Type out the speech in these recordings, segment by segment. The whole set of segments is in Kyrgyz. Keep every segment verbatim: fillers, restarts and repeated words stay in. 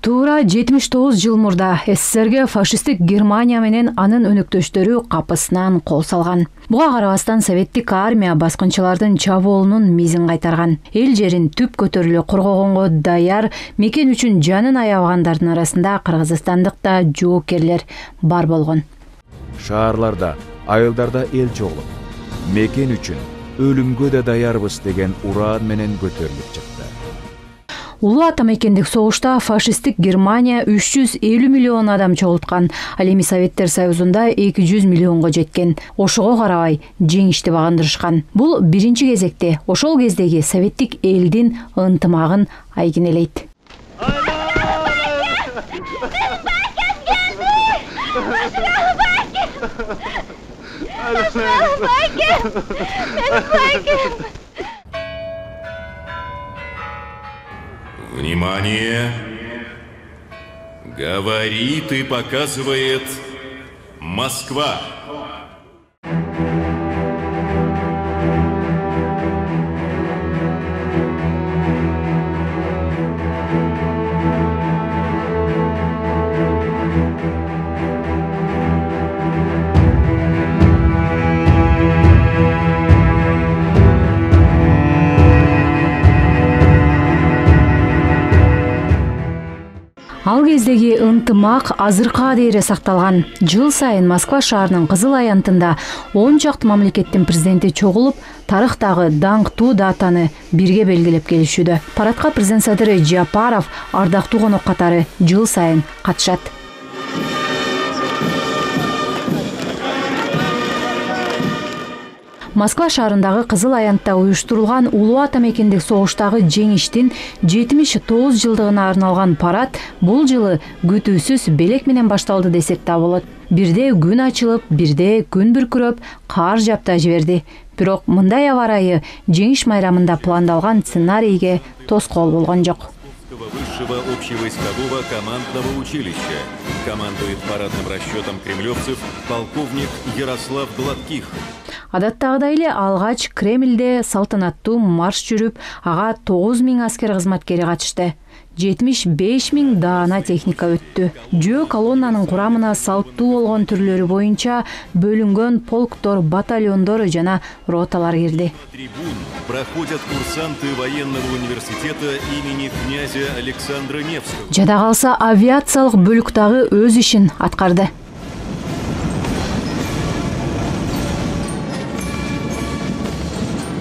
Туура жетимиш тогуз жыл мурда СССРге фашисттик Германия менен анын өнөктөштөрү капысынан кол салган. Буга карабастан советтик армия баскынчылардын чабуулунун мизин кайтарган. Эл жерин түп көтөрүлө коргогонго даяр, мекен үчүн жанын аябагандардын арасында кыргызстандык да жоокерлер бар болгон. Шаарларда, айылдарда эл чогулуп, мекен үчүн өлүмгө да даярбыз деген ураан менен көтөрүлүп чыкты. Улуу ата мекендик согушта фашисттик Германия үч жүз элүү миллион адам чогулткан, ал эми Советтер Союзунда эки жүз миллионго жеткен. Ошого карабай жеңишти багындырышкан. Бул биринчи кезекте ошол кездеги советтик элдин ынтымагын айгинелейт. Внимание! Говорит и показывает Москва. Ал кездеги ынтымак азыркыга дейре сакталган. Жыл сайын Москва шаарынын Кызыл аянтында он чакты мамлекеттин президенти чогулуп, тарыхтагы даңктуу датаны бирге белгилеп келишүүдө. Парадка президент Садыр Жапаров ардактуу конок катары жыл сайын катышат. Москва шаарындагы Кызыл аянтта уюштурулган улуу ата мекендик согуштагы жеңиштин жетимиш тогуз жылдыгына арналган парад бул жылы күтүүсүз белек менен башталды десек да болот. Бирде күн ачылып, бирде күн бүркүрөп, кар жапта жиберди. Бирок мындай аба ырайы жеңиш майрамында пландалган сценарийге тоскоол болгон жок. Высшего общевойскового командного училища. Командует парадным расчетом кремлевцев полковник Ярослав Гладких. Адаттагыдай эле алгач Кремльде салтанаттуу марш жүрүп, ага тогуз миң аскер кызматкери катышты. жетимиш беш миң даана техника өттү. Жөө колоннанын курамына салттуу болгон түрлөрү боюнча бөлүнгөн полктор, батальондор жана роталар кирди. Трибун проходят курсанты военного университета имени князя Александра Невского. Жада калса авиациялык бөлүк дагы өз ишин аткарды.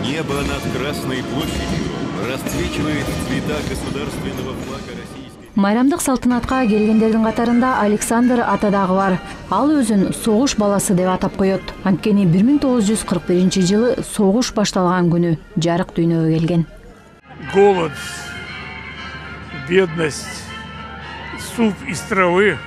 Небо над Красной площадью расцвечивает цвета государственного флага Российской. Майрамдык салтанатка келгендердин катарында Александр ата дагы бар. Ал өзүн согуш баласы деп атап коет. Анткени бир миң тогуз жүз кырк биринчи жылы согуш башталган күнү жарык дүйнөгө келген. Голод, бедность, суп из травы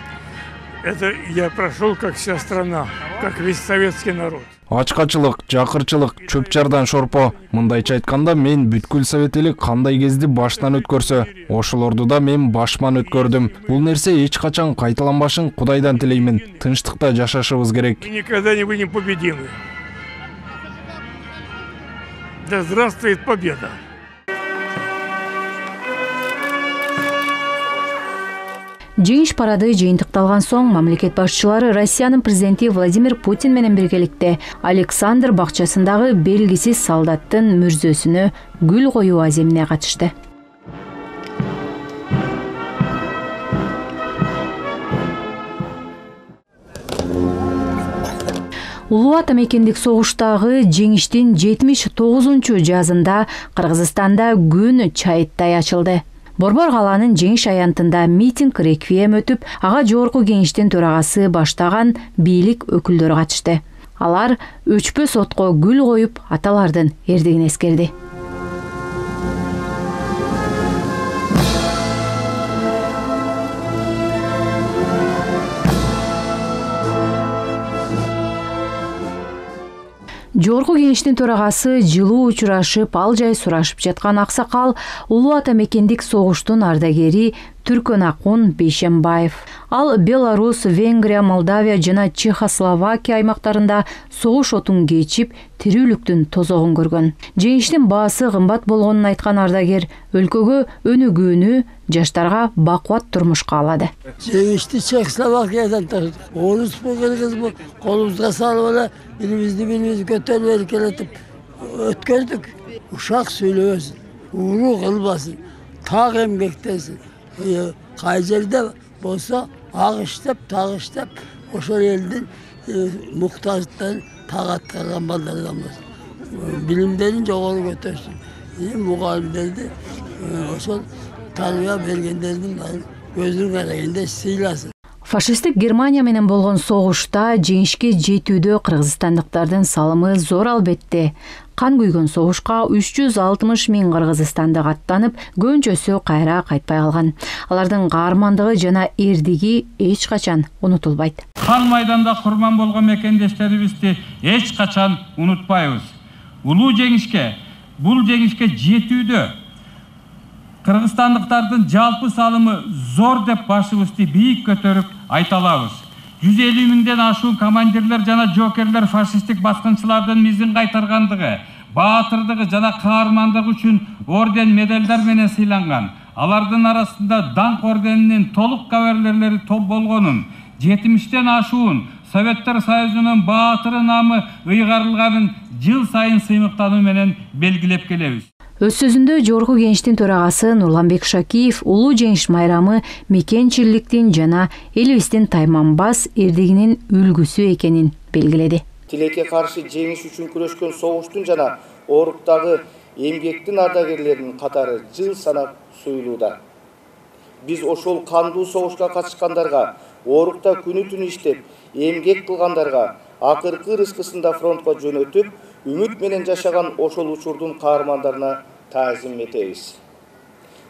— это я прошел как вся страна, как весь советский народ. Ачкачылык, жакырчылык, чөп-чардан шорпо. Мындайча айтканда, мен бүткүл совет эли кандай кезди баштан өткөрсө, ошолорду да мен башман өткөрдүм. Бул нерсе эч качан кайталанбашын Кудайдан тилеймин. Тынчтыкта жашашыбыз керек. Мы никогда не будем победимы. Да здравствует победа! Жеңиш парады жыйынтыкталган соң мамлекет башчылары Россиянын президенти Владимир Путин менен биргеликте Александр бакчасындагы белгисиз солдаттын мүрзөсүнө гүл коюу аземине катышты. Улуу ата мекендик согуштагы жеңиштин жетимиш тогузунчу жазында Кыргызстанда күн чайыттай ачылды. Борбор калаанын жеңиш аянтында митинг реквием өтүп, ага жогорку кеңештин төрагасы баштаган бийлик өкүлдөрү катышты. Алар өчпөс отко гүл коюп, аталардын эрдигин эскерди. Жогорку кеңештин төрагасы жылуу учурашып, ал жай сурашып жаткан аксакал улуу ата мекендик согуштун ардагери Түркөн Акун Бейшембаев. Ал Беларусь, Венгрия, Молдавия жана Чехословакия аймактарында согуш отун кечип, тирүүлүктүн тозогун көргөн. Жеңиштин баасы кымбат болгонун айткан ардагер өлкөгө өнүгүүнү, жаштарга бакубат турмуш каалады. Жеңишти Чехословакиядан таштык. Орус бу кыргыз бу колубузга салып эле билибизди билибиз көтөрүп келетип өткөрдүк. Ушак сүйлөбөсүн, уруу кылбасын, так эмгектесин. Кай жерде болсо ак иштеп, так иштеп, ошол элдин муктаждыктарын так аткарган балдардан болсун. Билимдерин жогору көтөрсүн. Мугалимдерди ошол тарбия бергендердин көзүн караганда сыйласын. Фашисттик Германия менен болгон согушта жеңишке жетүүдө кыргызстандыктардын салымы зор албетте. Кан күйгөн согушка үч жүз алтымыш миң кыргызстандык аттанып, көбүнчөсү кайра кайтпай калган. Алардын каармандыгы жана эрдиги эч качан унутулбайт. Кан майданда курман болгон мекендештерибизди эч качан унутпайбыз. Улуу жеңишке, бул жеңишке жетүүдө кыргызстандыктардын жалпы салымы зор деп башыбызды бийик көтөрүп айта алабыз. жүз элүү миңден ашуун командирлер жана жоокерлер фашисттик баскынчылардын мизин кайтаргандыгы, баатырдыгы жана каармандыгы үчүн орден медалдар менен сыйланган. Алардын арасында даңк орденинин толук кавалерлери топ болгонун, жетимиштен ашуун Советтер Союзунун баатыры намы ыйгарылганын жыл сайын сыймыктануу менен белгилеп келебиз. Өз сөзүндө Жогорку Кеңештин төрагасы Нурланбек Шакиев улуу жеңиш майрамы мекенчиликтин жана элибиздин тайманбас эрдигинин үлгүсү экенин белгиледи. Тилекке каршы жеңиш үчүн күрөшкөн согуштун жана ооруктагы эмгектин ардагерлеринин катары жыл санап суюлууда. Биз ошол кандуу согушка катышкандарга, оорукта күнү-түнү иштеп, эмгек кылгандарга акыркы рызкысында фронтко жөнөтүп, үмүт менен жашаган ошол учурдун каармандарына таазим этебиз.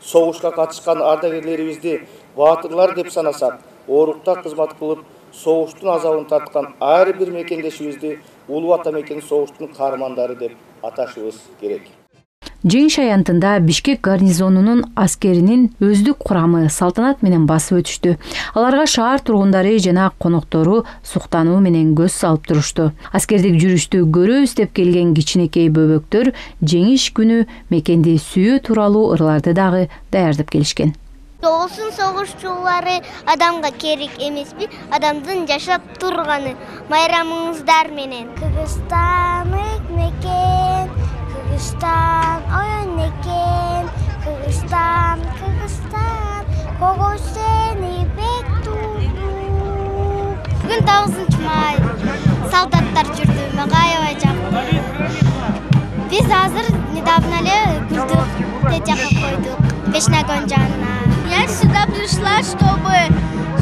Согушка катышкан ардагерлерибизди баатырлар деп санасак, оорукта кызмат кылып, согуштун азабын тарткан ар бир мекендешибизди улуу ата мекен согуштун каармандары деп аташыбыз керек. Жеңиш аянтында Бишкек гарнизонунун аскеринин өздүк курамы салтанат менен басып өтүштү. Аларга шаар тургундары жана коноктору суктануу менен көз салып турушту. Аскердик жүрүштү көрөбүз деп келген кичинекей бөбөктөр жеңиш күнү мекенди сүйүү тууралуу ырларды дагы даярдап келишкен. Соғылсын соғышчулары адамға керек емеспи, адамдың жашап тұрғаны майрамыңыздар менен. Кыргызстан мекен, Кыргызстан ойын екен, Кыргызстан, Кыргызстан, кого сени бек туду. Бүгін тоғызынчы май, солдаттар жүрді, мага аябай жакты. Биз азыр недавно эле гүлдүк течакка койдук, Бешнагон жанына. Я сюда пришла, чтобы,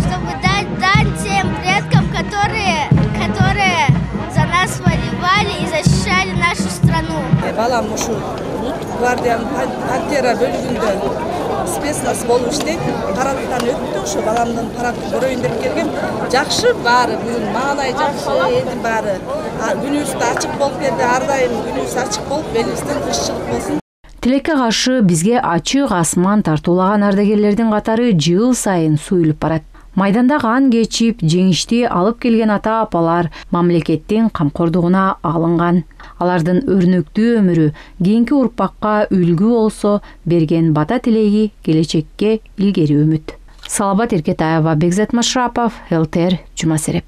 чтобы дать дань тем предкам, которые, которые за нас воевали и защищали нашу страну. Балам ушу гвардиянын пантера бөлүгүндө спецназ болуп иштейт. Парадтан өттү, ушу баламдын парадты көрөйүн деп келгем. Жакшы баары, бүгүн маанай жакшы, элдин баары. Күнүбүз да ачык болуп берди, ар дайым күнүбүз ачык болуп, элибизден тынччылык болсун. Тилекке каршы бизге ачык асман тартуулаган ардагерлердин катары жыл сайын суюлуп барат. Майданда кан кечип, жеңишти алып келген ата-апалар мамлекеттин камкордугуна алынган. Алардын өрнөктүү өмүрү кийинки урпакка үлгү болсо, берген бата тилеги келечекке илгери үмүт. Салабат Эркетаева, Бекзат Машрапов, эл тэ эр, Жума сереп.